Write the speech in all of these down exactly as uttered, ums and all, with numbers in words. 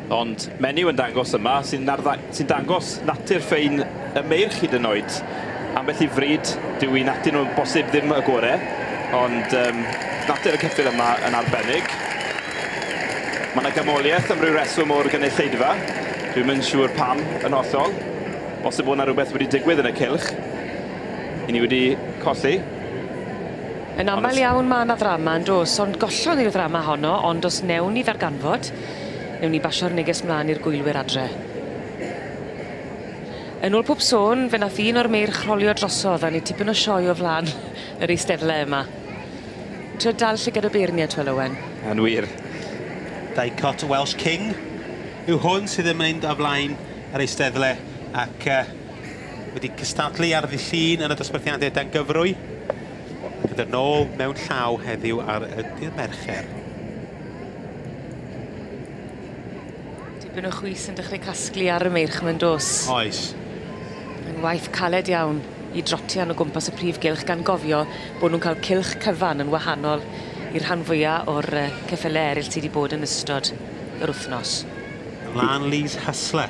Ond menyw yn dangos yma sy'n sy dangos natur ffein y meirch hyd yn oed. Ambell i fryd, dyw i natur nhw'n bosib ddim y gore, ond um, natur y ceffyl yma yn arbennig. Mae yna gamoliaeth am ryw reswm o'r gynulleidfa. Dwi'm yn siŵr pam yn hollol. Bosib bod yna rhywbeth wedi digwydd yn y cylch. I ni wedi colli. Yn aml iawn mae yna ddrama yn dos, ond gollon ni'r ddrama honno, ond os newn ni ddarganfod, newn ni basio'r neges mlaen i'r gwylwyr adre. Yn ôl pob sôn, fe nath un o'r meirch rholio drosodd a ni tipyn o sioe o flaen yr eisteddle yma. Trio dal llygad y beirniad, Twel Owen. Yn wir. Dicot Welsh King yw hwn sydd yn mynd o flaen yr eisteddle ac uh, wedi cystadlu ar ddydd Llun yn y dosbarthiadau dan gyfrwy. Gyda'r nôl mewn llaw heddiw ar y dydd Mercher. Dipyn o chwys yn dechrau casglu ar y meirch mewn dos. Oes. Yn waith caled iawn i drotian o gwmpas y prif gylch gan gofio bod nhw'n cael cylch cyfan yn wahanol i'r rhan fwyaf o'r ceffylau eraill sydd wedi bod yn ystod yr wythnos. Lanley's Hustler.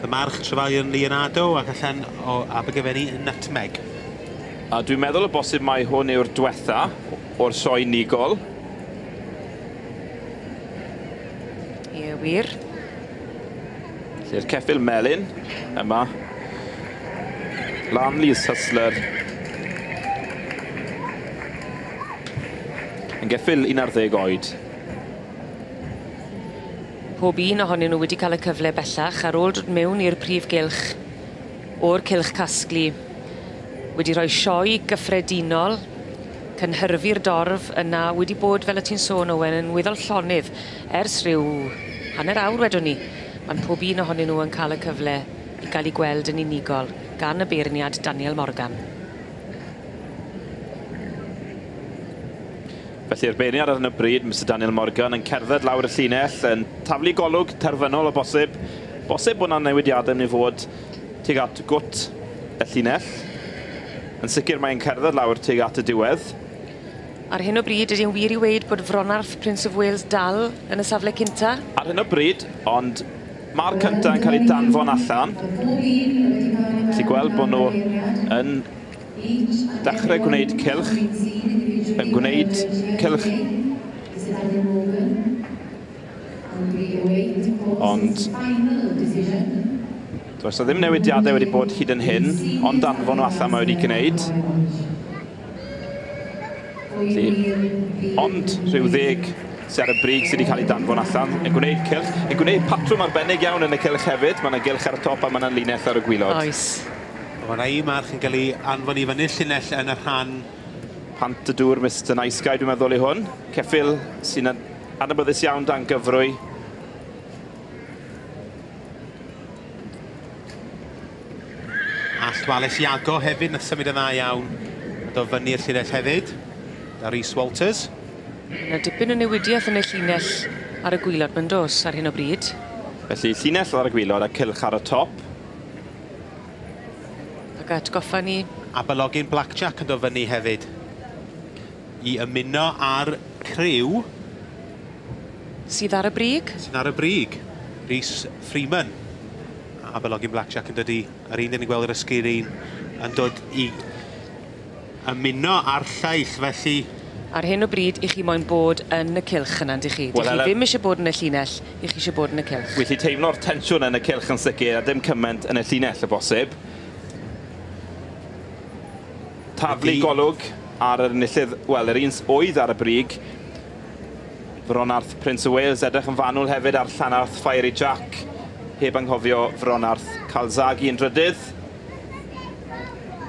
Y march Trefalion Leonardo ac allan o Abergavenny Nutmeg. A dwi'n meddwl o bosib mai hwn yw'r diwetha o'r sioe unigol. Ie, wir. Felly'r ceffyl melyn yma. Lanley's Hustler. Yn geffyl un ar ddeg oed. Pob un ohonyn nhw wedi cael y cyfle bellach ar ôl dod mewn i'r prif gylch o'r cylch casglu. Wedi rhoi sioe gyffredinol, cynhyrfu'r dorf yna wedi bod, fel y ti'n sôn Owen, yn weddol llonydd ers rhyw hanner awr wedwn ni. Mae'n pob un ohonyn nhw yn cael y cyfle i gael eu gweld yn unigol gan y beirniad Daniel Morgan. Felly'r beirniad ar hyn o bryd, Mister Daniel Morgan, yn cerdded lawr y llinell, yn taflu golwg terfynol o bosib. Bosib bod yna newidiadau yn ei fod tuag at gwt y llinell. Yn sicr mae'n cerdded lawr tuag at y diwedd. Ar hyn o bryd, ydy'n wir i weud bod Fronarth Prince of Wales dal yn y safle cynta? Ar hyn o bryd, ond mae'r cynta yn cael ei danfon allan. Ti'n gweld bod nhw yn dechrau gwneud cylch, yn gwneud cylch. Ond does na ddim newidiadau wedi bod hyd yn hyn, ond danfon nhw allan mae wedi gwneud. Felly, ond rhyw ddeg sydd ar y brig sydd wedi cael ei danfon allan, yn gwneud cylch, yn gwneud patrwm arbennig iawn yn y cylch hefyd. Mae yna gylch ar y top a mae yna linell ar y gwylod. Oes. Mae yna un march yn cael ei anfon i fyny'r llinell yn y rhan. Pant y dŵr, Mister Nice Guy, dwi'n meddwl i hwn. Ceffyl sy'n adnabyddus iawn dan gyfrwy. Allt Wallace Iago hefyd, nath symud yn dda iawn. A do fyny'r llinell hefyd. Da Rhys Walters. Yna dipyn o newidiaeth yn y llinell ar y gwylod mae'n dos ar hyn o bryd. Felly llinell ar y gwylod a cylch ar y top. Ac atgoffa ni. Aberlogin Blackjack yn dod fyny hefyd. I ymuno ar criw. Sydd ar y brig? Sydd ar y brig. Rhys Freeman. Aberlogin Blackjack yn dod i, yr un dyn ni'n gweld ar y sgrin, yn dod i ymuno ar lleill, felly... Ar hyn o bryd, i chi moyn bod yn y cylch yna, ydych chi? Well, chi ddim eisiau bod yn y llinell, i chi eisiau bod yn y cylch. Wi chi teimlo'r tensiwn yn y cylch yn sicr, a dim cymaint yn y llinell y bosib. Taflu golwg ar yr enillydd, wel, yr un oedd ar y brig. Fronarth Prince of Wales, edrych yn fanwl hefyd ar Llanarth Fiery Jack. Heb anghofio Fronarth Calzaghe yn drydydd.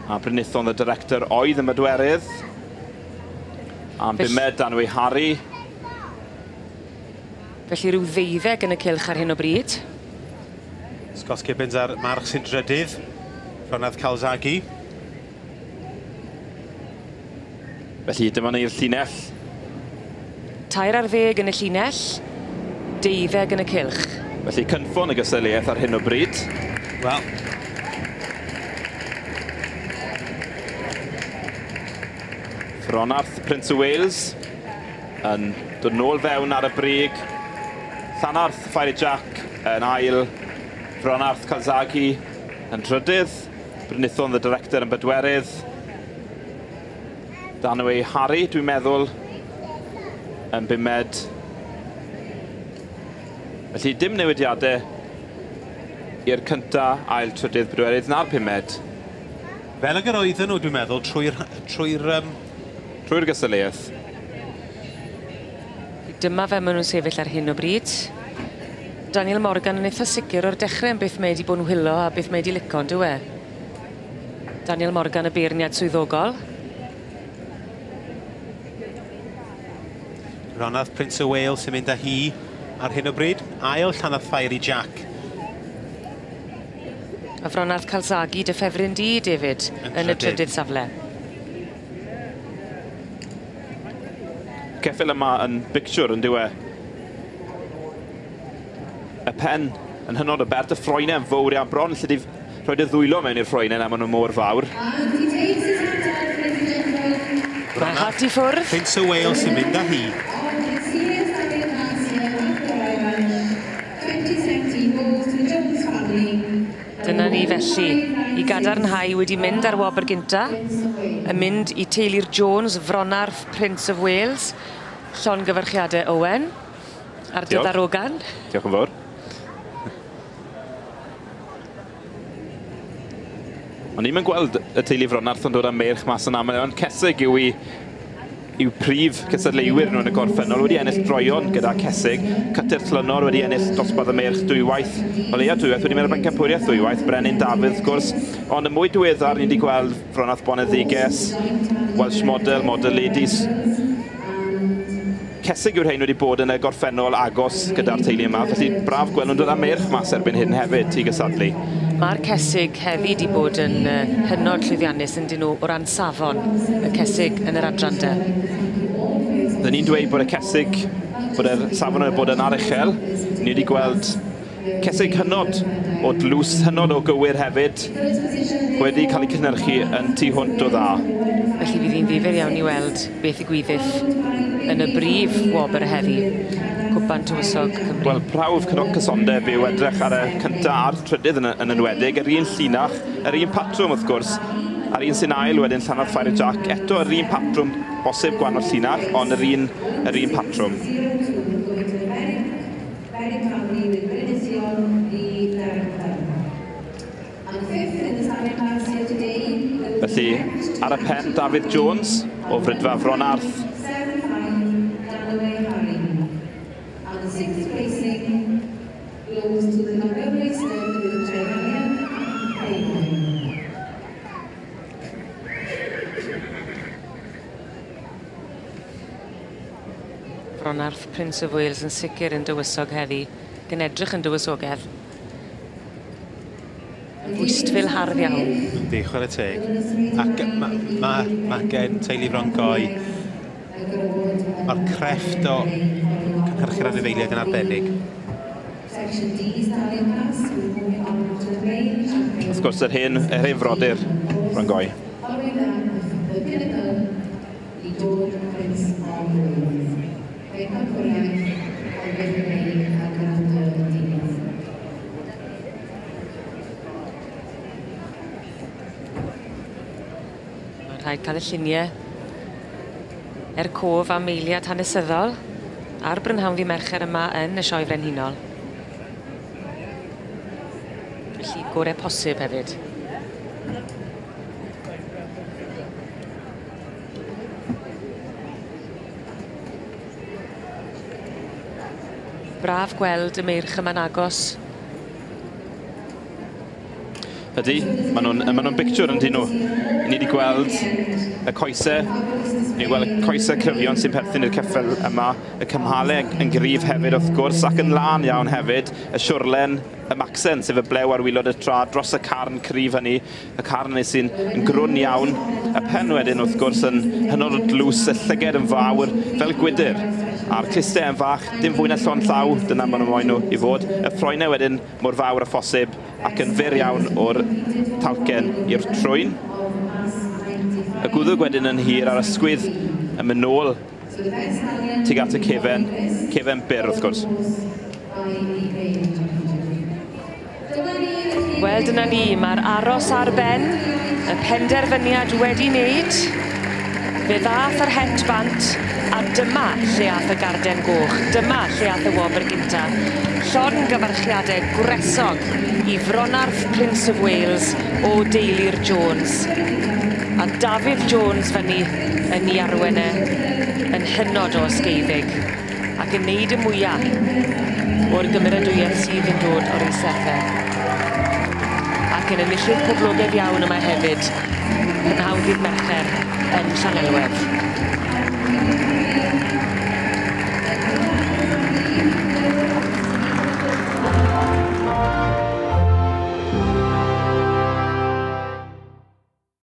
A Brynithon the Director oedd yn bedwerydd. A'n bumed Danwy Harry. Felly rhyw ddeuddeg yn y cylch ar hyn o bryd. Scott Gibbons ar march sy'n drydydd. Fronarth Calzaghe. Felly dyma ni'r llinell. Tair ar ddeg yn y llinell, deuddeg yn y cylch. Felly cynffon y gystadleuaeth ar hyn o bryd. Wel. Fronarth Prince of Wales yn dod nôl fewn ar y brig. Llanarth Fiery Jack yn ail, Fronarth Calzaghe yn trydydd, Brynithon the Director yn bedwerydd, Danaway Harry, dwi'n meddwl, yn bumed. Felly dim newidiadau i'r cynta, ail, trydydd, bedwerydd na'r pumed. Fel ag yr oedden nhw, dwi'n meddwl, trwy'r... trwy'r um... trwy'r gystadleuaeth. Dyma fe maen nhw'n sefyll ar hyn o bryd. Daniel Morgan yn eitha sicr o'r dechrau yn beth mae wedi bod yn wylo a beth mae wedi lico, on'd yw e? Daniel Morgan, y beirniad swyddogol. Fronarth Prince of Wales sy'n mynd â hi ar hyn o bryd. Ail Llanarth Fiery Jack. A Fronarth Calzaghe, dy ffefryn di, David, yn, yn y trydydd safle. Ceffyl yma yn bictiwr yn dyw e. Y pen yn hynod o bert, y ffroenau yn fawr iawn bron, lle di rhoi dy ddwylo mewn i'r ffroenau na maen nhw mor fawr. Mae hat i ffwrdd. Prince of Wales sy'n mynd â hi. Dyna ni felly, i gadarnhau wedi mynd ar wobr gynta, yn mynd i teulu'r Jones, Fronarth Prince of Wales, llongyfarchiadau Owen, ar dy ddarogan. Diolch yn fawr. O'n i'm yn gweld y teulu Fronarth yn dod â meirch mas yn aml, ond Cesig yw i yw prif cystadleuwyr nhw yn y gorffennol, wedi ennill droion gyda Cesig. Cytyr Llynor wedi ennill dosbarth y meirch dwywaith, o leia dwywaith, wedi mynd ar bencampwriaeth ddwywaith, Brenin Dafydd wrth gwrs. Ond y mwy diweddar ni wedi gweld Fronarth Boneddiges, Welsh Model, Model Ladies. Cesig yw'r rhain wedi bod yn y gorffennol agos gyda'r teulu yma, felly braf gweld nhw'n dod â meirch mas erbyn hyn hefyd i gystadlu. Mae'r Cesig hefyd wedi bod yn hynod llwyddiannus yn dyn nhw o ran safon y Cesig yn yr adran de. Dyn ni'n dweud bod y Cesig, bod yr safon yn bod yn aruchel. Ni wedi gweld Cesig hynod o dlws, hynod o gywir hefyd, wedi cael ei cynhyrchu yn tu hwnt o dda. Felly fydd hi'n ddifyr iawn i weld beth ddigwyddith yn y brif wobr heddi, Cwpan Tywysog Cymru. Wel, prawf cysondeb yw edrych ar y cyntaf a'r trydydd yn, yn enwedig, yr un llinach, yr un patrwm wrth gwrs, a'r un sy'n ail wedyn Llanarth Fiery Jack, eto yr un patrwm, bosib gwahanol llinach, ond yr un, yr un patrwm. Felly, ar y pen, Dafydd Jones o Fridfa Fronarth. Fronarth Prince of Wales yn sicr yn dywysog heddi, gan edrych yn dywysogedd. Yn fwystfil hardd iawn. Yndi, chwarae teg. Ac mae ma, ma gen teulu Fron Goi, mae'r crefft o cynhyrchu'r anifeiliaid yn arbennig. Wrth gwrs, yr hen, yr hen frodyr Fron Goi. Mae'n rhaid cael y lluniau er cof am eiliad hanesyddol ar brynhawn ddydd Mercher yma yn y Sioe Frenhinol. Felly gorau posib hefyd. Braf gweld y meirch yma'n agos. Ydy, maen nhw'n ma nhw'n bictiwr yn dyn nhw. Ni wedi gweld y coesau, ni wedi gweld y coesau cryfion sy'n perthyn i'r ceffyl yma, y cymhalau yn gryf hefyd wrth gwrs, ac yn lân iawn hefyd, y siwrlen, y macsen, sef y blew ar waelod y trad, dros y carn cryf hynny, y carn hynny sy'n yn grwn iawn, y pen wedyn wrth gwrs yn hynod o dlws, y llyged yn fawr, fel gwydr, a'r clustau yn fach, dim fwy na llond llaw, dyna maen nhw moyn nhw i fod, y ffroenau wedyn mor fawr â phosib, ac yn fyr iawn o'r talcen i'r trwyn. Y gwddwg wedyn yn hir a'r ysgwydd yn mynd nôl tuag at y cefen, cefen byr wrth gwrs. Wel, dyna ni, mae'r aros ar ben, y penderfyniad wedi wneud. Fe ddath yr het bant, a dyma lle ath y garden goch, dyma lle ath y wobr gynta. Llongyfarchiadau gwresog i Fronarth Prince of Wales o deulu'r Jones. A Dafydd Jones fyny yn ei arwen e yn hynod o ysgeifig ac yn neud y mwya o'r gymeradwyaeth sydd yn dod o'r eisteddle. Ac yn enillydd poblogaidd iawn yma hefyd, prynhawn ddydd Mercher yn Llanelwedd.